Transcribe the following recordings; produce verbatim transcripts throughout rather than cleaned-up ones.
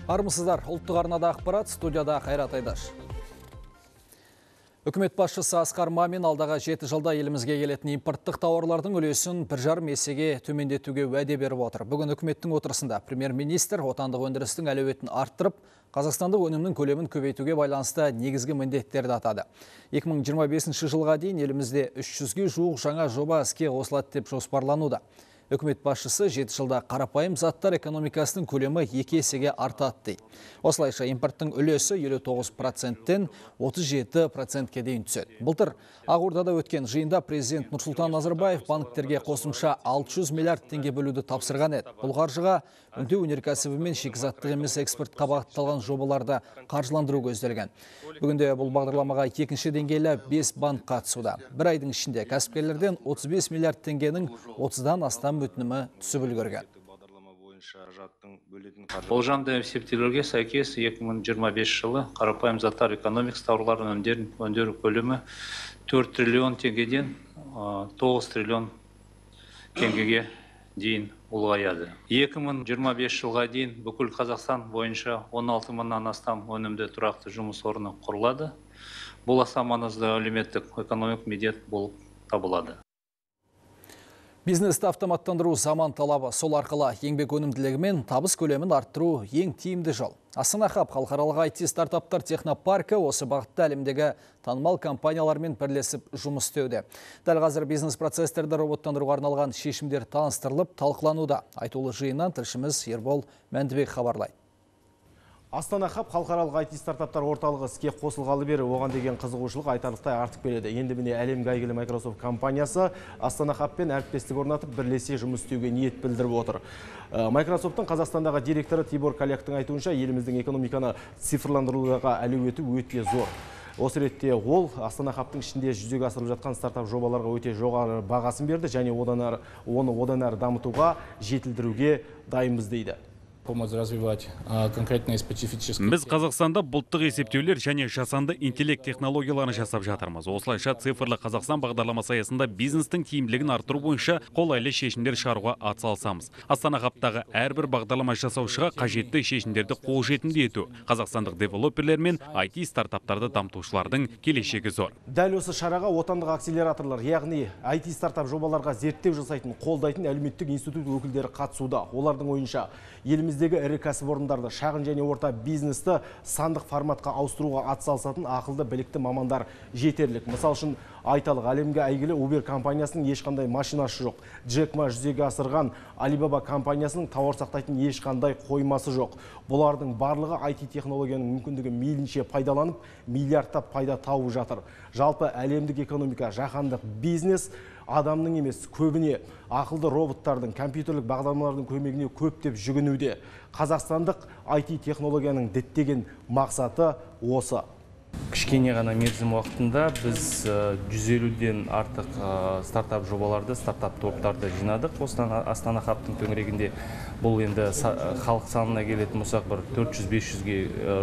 Армысыздар, ұлттық арнада ақпарат, студияда Қайрат Айдаш. Үкімет басшысы Асқар Мамин алдағы жеті жылда елімізге келетін импорттық тауарлардың үлесін бір жарым есеге төмендетуге уәде беріп отыр. Бүгін үкіметтің отырысында премьер-министр отандық өндірістің әлеуетін арттырып, қазақстандық өнімнің көлемін көбейтуге байланысты негізгі міндеттерді атады. екі мың жиырма бесінші жылға дейін елімізде үш жүзге жуық жаңа жоба іске қосылады деп жоспарлануда. Үкімет басшысы жеті жылда қарапайым заттар экономикасының көлемі екі есеге артады дейді. Осылайша импорттың үлесі елу тоғыз проценттен отыз жеті процентке дейін түседі. Былтыр Ақордада өткен жиында президент Нұрсұлтан Назарбаев банктерге қосымша алты жүз миллиард теңге бөлуді тапсырған еді. Бұл қаржыға өңдеу өнеркәсібі мен шикізаттық емес экспортқа бағытталған жобаларды қаржыландыру көзделген. Бүгінде бұл бағдарламаға екінші деңгейлі бес банк қатысуда. Бір айдың ішінде кәсіпкерлерден отыз бес миллиард теңгенің отыздан астам өтінімі түсіп үлгерген. Болжамды есептеулерге сәйкес екі мың жиырма бесінші жылы қарапайым заттар экономикасы тауарларын өндіру көлемі төрт триллион теңгеден тоғыз триллион теңгеге дейін ұлғаяды. екі мың жиырма бесінші жылға дейін бүкіл Қазақстан бойынша он алты мыңнан астам өнімді тұрақты жұмыс орны құрылады. Бұл аса маңызды әлеуметтік экономикалық міндет болып табылады. Бизнесті автоматтандыру заман талабы, сол арқылы еңбек өнімділігі мен табыс көлемін арттыру ең тиімді жол. Астана Хаб халықаралық ай ти стартаптар технопаркі осы бағытта әлемдегі танымал компаниялармен бірлесіп жұмыс істеуде. Дәл қазір бизнес процесстерді роботтандыруға арналған шешімдер таныстырылып, талқылануда. Айтулы жиыннан тілшіміз Ербол Мәндібек хабарлайды. Астана Хаб халықаралық ай ти стартаптар орталығы іске қосылғалы бері оған деген қызығушылық айтарлықтай артып келеді. Енді міне әлемге әйгілі Microsoft компаниясы Астана Хабпен әріптестік орнатып бірлесе жұмыс істеуге ниет білдіріп отыр. Microsoft'тың Қазақстандағы директоры Тибор Каляктың айтуынша, еліміздің экономиканы цифрландыруға әлеуеті өте зор. Осы ретте ол Астана Хабтың ішінде жүзеге асырылып жатқан стартап жобаларға өте жоғары бағасын берді және одан оны одан әрі дамытуға, жетілдіруге дайынбыз дейді. Біз Қазақстанда бұлттық есептеулер және жасанды интеллект технологияларын жасап жатырмыз. Осылайша цифрлы Қазақстан бағдарламасы аясында бизнестің тиімділігін арттыру бойынша қолайлы шешімдер шығаруға атсалысамыз. Астана Хабтағы әрбір бағдарлама жасаушыға қажетті шешімдерді қолжетімді ету. Қазақстандық девелоперлер мен ай ти стартаптарды дамытушылардың келешегі зор. Дәл осы шараға отандық акселераторлар, яғни ай ти стартап жобаларға зерттеу жасайтын, қолдайтын әлеуметтік институт өкілдері қатысуда. Олардың ойынша еліміздегі ірі кәсіпорындарды, шағын және орта бизнесті сандық форматқа ауыстыруға атсалысатын ақылды білікті мамандар жетерлік. Мысал үшін айталық, әлемге әйгілі Uber компаниясының ешқандай машинасы жоқ. Джек Ма жүзеге асырған Alibaba компаниясының тауар сақтайтын ешқандай қоймасы жоқ. Бұлардың барлығы ай ти технологияның мүмкіндігі мейлінше пайдаланып, миллиардтап пайда тауып жатыр. Жалпы әлемдік экономика, жаһандық бизнес адамның емес, көбіне ақылды роботтардың, компьютерлік бағдарламалардың көмегіне көптеп жүгінуде. Қазақстандық ай ти технологияның діттеген мақсаты осы. Кішкене ғана мерзім уақытында біз жүз елуден артық стартап жобаларды, стартап топтарды жинадық. Астана Хабтың төңірегінде бұл енді халық санына келетін болсақ бір төрт жүз бес жүзге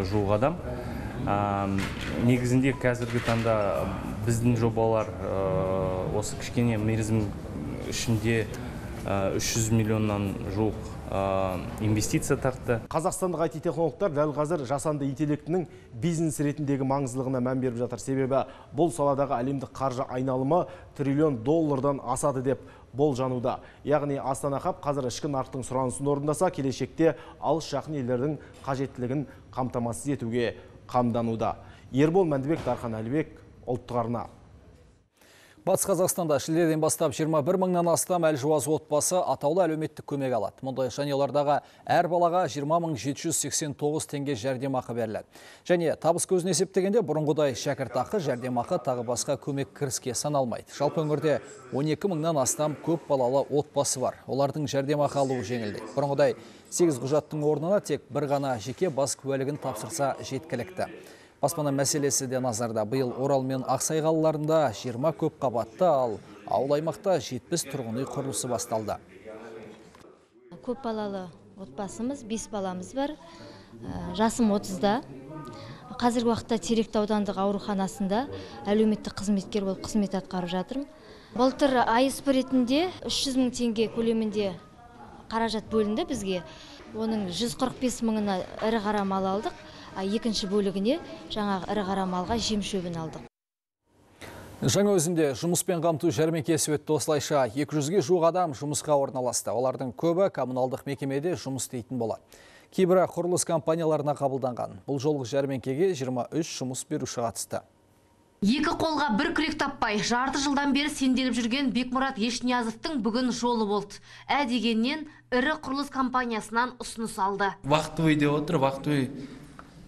жуық адам. Негізінде қазіргі таңда біздің жобалар осы кішкене мерзім ішінде үш жүз миллионнан жуық инвестиция тартты. Қазақстандық ай ти технологтар дәл қазір жасанды интеллектінің бизнес ретіндегі маңыздылығына мән беріп жатыр. Себебі бұл саладағы әлемдік қаржы айналымы триллион доллардан асады деп болжануда. Яғни Астана Хаб қазір ішкі нарықтың сұранысын орындаса, келешекте алыс жақын елдердің қажеттілігін қамтамасыз етуге қамдануда. Ербол Мәндібек, Дархан Әлібек, ұлттық арна. Батыс Қазақстанда шілдеден бастап жиырма бір мыңнан астам әлжуаз отбасы атаулы әлеуметтік көмек алады. Мұндай жанұялардағы әр балаға жиырма мың жеті жүз сексен тоғыз теңге жәрдемақы беріледі. Және табыс көзін есептегенде бұрынғыдай шәкіртақы, жәрдемақы тағы басқа көмек кіріске саналмайды. Жалпы өңірде он екі мыңнан астам көп балалы отбасы бар. Олардың жәрдемақы алуы жеңілдейді. Бұрынғыдай сегіз құжаттың орнына тек бір ғана жеке бас куәлігін тапсырса жеткілікті. Баспана мәселесі де назарда. Биыл Орал мен Ақсай қалаларында жиырма көп қабатты, ал ауыл аймақта жетпіс тұрғын үй құрылысы басталды. Көп балалы отбасымыз, бес баламыз бар. Жасым отызда. Қазіргі уақытта Теректі аудандық ауруханасында әлеуметтік қызметкер болып қызмет атқарып жатырмын. Былтыр ай эс пэ ретінде үш жүз мың теңге көлемінде қаражат бөлінді бізге. Оның жүз қырық бес мыңына ірі қара мал алдық, екінші бөлігіне жаңағы ірі қара малға жем шөбін алдық. Жаңа өзінде жұмыспен қамту жәрмеңкесі өтті. Осылайша екі жүзге жуық адам жұмысқа орналасты. Олардың көбі коммуналдық мекемеде жұмыс істейтін болады. Кейбірі құрылыс компанияларына қабылданған. Бұл жолғы жәрмеңкеге жиырма үш жұмыс беруші қатысты. Екі қолға бір күрек таппай, жарты жылдан бері сенделіп жүрген Бекмұрат Ешниязовтың бүгін жолы болды. Ә дегеннен ірі құрылыс компаниясынан ұсыныс алды. Вақтыбай деп отыр, Вақтыбай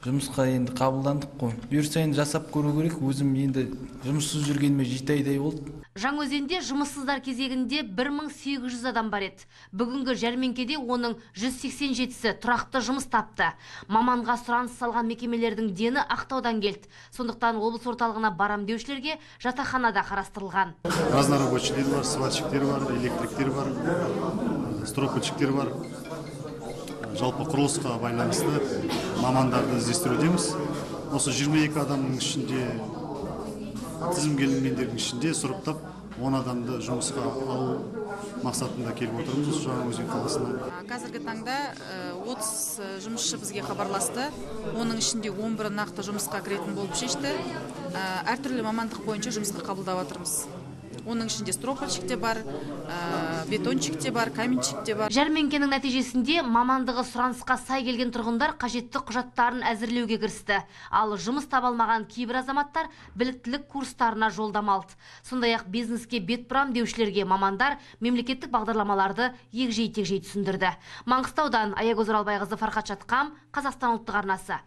жұмысқа енді қабылдандық қой. Бұйырса енді жасап көру керек, өзім енді жұмыссыз жүргеніме жеті айдай болды. Жаңаөзенде жұмыссыздар кезегінде бір мың сегіз жүз адам бар еді. Бүгінгі жәрмеңкеде оның жүз сексен жетісі тұрақты жұмыс тапты. Маманға сұраныс салған мекемелердің дені Ақтаудан келді. Сондықтан облыс орталығына барам деушілерге жатақхана да қарастырылған. Разнорабочийлер бар, сварщиктер бар, электриктер бар, стропочиктер бар. Жалпы құрылысқа байланысты мамандарды іздестірудеміз. Осы жиырма екі адамның ішінде, тізімге ілінгендердің ішінде сұрыптап он адамды жұмысқа алу мақсатында келіп отырмыз Жаңаөзен қаласына. Қазіргі таңда отыз жұмысшы бізге хабарласты. Оның ішінде он бірі нақты жұмысқа кіретін болып шешті. Әртүрлі мамандық бойынша жұмысқа қабылдап отырмыз. Оның ішінде стропальщик те бар, бетончик те бар, каменщик те бар. Жәрмеңкенің нәтижесінде мамандығы сұранысқа сай келген тұрғындар қажетті құжаттарын әзірлеуге кірісті. Ал жұмыс табалмаған кейбір азаматтар біліктілік курстарына жолдама алды. Сондай-ақ бизнеске бет бұрам деушілерге мамандар мемлекеттік бағдарламаларды егжей-тегжей түсіндірді. Маңғыстаудан Аягөз Оралбайқызы, Фархат Шатқам, Қазақстан ұлттық арнасы.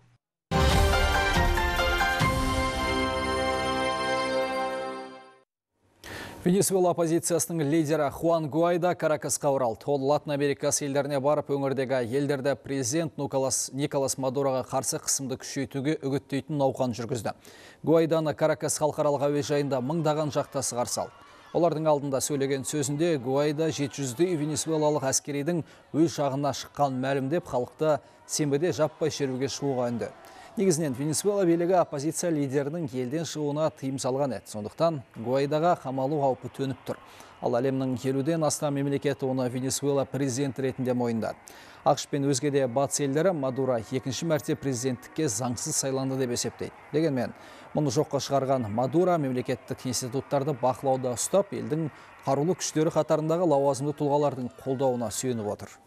Венесуэла оппозициясының лидері Хуан Гуайдо Каракасқа оралды. Ол Латын Америкасы елдеріне барып, өңірдегі елдерді президент Николас Мадуроға қарсы қысымды күшейтуге үгіттейтін науқан жүргізді. Гуайдоны Каракас халықаралық әуежайында мыңдаған жақтасы қарсы алды. Олардың алдында сөйлеген сөзінде Гуайдо жеті жүздей венесуэлалық әскеридің өз жағына шыққан мәлімдеп, халықты сенбіде жаппай шеруге шығуға үнді. Негізінен Венесуэла билігі оппозиция лидерінің елден шығуына тыйым салған еді. Сондықтан Гуайдоға қамалу қаупі төніп тұр. Ал әлемнің елуден астам мемлекеті оны Венесуэла президент ретінде мойындады. ақш пен өзге де батыс елдері Мадуро екінші мәрте президенттікке заңсыз сайланды деп есептейді. Дегенмен, мұны жоққа шығарған Мадуро мемлекеттік институттарды бақылауда ұстап, елдің қарулы күштері қатарындағы лауазымды тұлғалардың қолдауына сүйеніп отыр.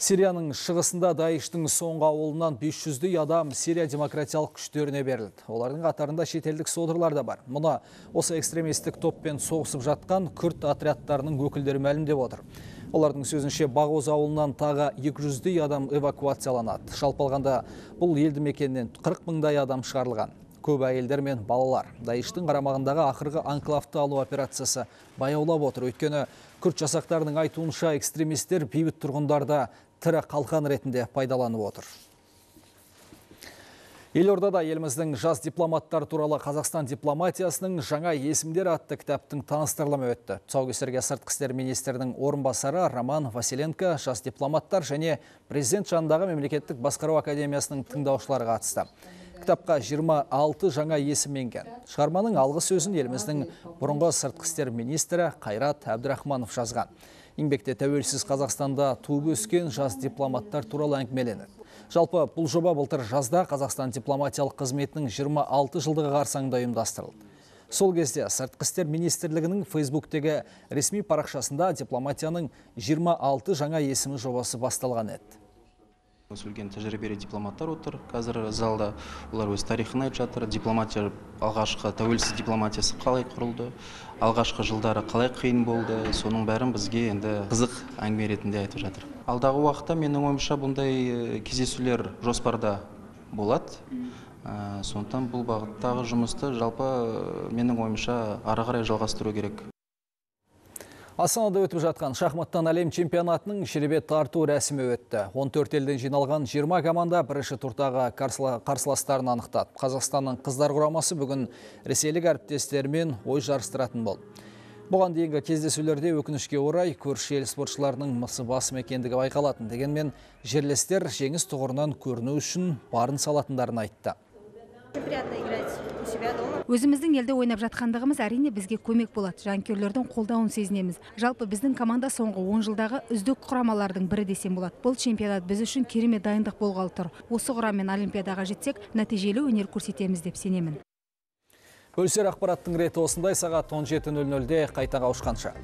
Сирияның шығысында Даиштің соңғы ауылынан бес жүздей адам Сирия демократиялық күштеріне берілді. Олардың қатарында шетелдік содырлар да бар. Мұны осы экстремистік топпен соғысып жатқан күрд отрядтарының өкілдері мәлімдеп отыр. Олардың сөзінше Бағоз ауылынан тағы екі жүздей адам эвакуацияланады. Жалпы алғанда бұл елді мекеннен қырық мыңдай адам шығарылған. Көп әйелдер мен балалар. Даиштің қарамағындағы ақырғы анклавты алу операциясы баяулап отыр. Өйткені күрд жасақтарының айтуынша экстремистер бейбіт тұрғындарды тірі қалқан ретінде пайдаланып отыр. Елордада еліміздің жас дипломаттар туралы Қазақстан дипломатиясының жаңа есімдер атты кітаптың таныстырылымы өтті. Тұсаукесерге сыртқы істер министрінің орынбасары Роман Василенко, жас дипломаттар және президент жанындағы мемлекеттік басқару академиясының тыңдаушылары қатысты. Кітапқа жиырма алты жаңа есім енген. Шығарманың алғы сөзін еліміздің бұрынғы сыртқы істер министрі Қайрат Әбдірахманов жазған. Еңбекте тәуелсіз Қазақстанда туып өскен жас дипломаттар туралы әңгімеленеді. Жалпы бұл жоба былтыр жазда Қазақстан дипломатиялық қызметінің жиырма алты жылдығы қарсаңында ұйымдастырылды. Сол кезде сыртқы істер министрлігінің Фейсбуктегі ресми парақшасында дипломатияның жиырма алты жаңа есімі жобасы басталған еді. Сөйлеген тәжірибелі дипломаттар отыр. Қазір залда олар өз тарихын айтып жатыр. Дипломатия алғашқы тәуелсіз дипломатиясы қалай құрылды, алғашқы жылдары қалай қиын болды, соның бәрін бізге енді қызық әңгіме ретінде айтып жатыр. Алдағы уақытта менің ойымша бұндай кездесулер жоспарда болады. Сондықтан бұл бағыттағы жұмысты жалпы менің ойымша ары қарай жалғастыру керек. Астанада өтіп жатқан шахматтан әлем чемпионатының шеребет тарту рәсімі өтті. он төрт елден жиналған жиырма команда бірінші турдағы қарсыластарын анықтады. Қазақстанның қыздар құрамасы бүгін ресейлік әріптестерімен ой жарыстыратын болды. Бұған дейінгі кездесулерде өкінішке орай көрші ел спортшыларының мысы басым екендігі байқалатын. Дегенмен жерлестер жеңіс тұғырынан көріну үшін барын салатындарын айтты. Өзіміздің елде ойнап жатқандығымыз әрине бізге көмек болады. Жанкүйерлердің қолдауын сезінеміз. Жалпы біздің команда соңғы он жылдағы үздік құрамалардың бірі десем болады. Бұл чемпионат біз үшін керемет дайындық болғалы тұр. Осы құраммен Олимпиадаға жетсек, нәтижелі өнер көрсетеміз деп сенемін. Бөлсер ақпараттың реті осындай. Сағат он жеті нөл нөлде қайта қауышқанша.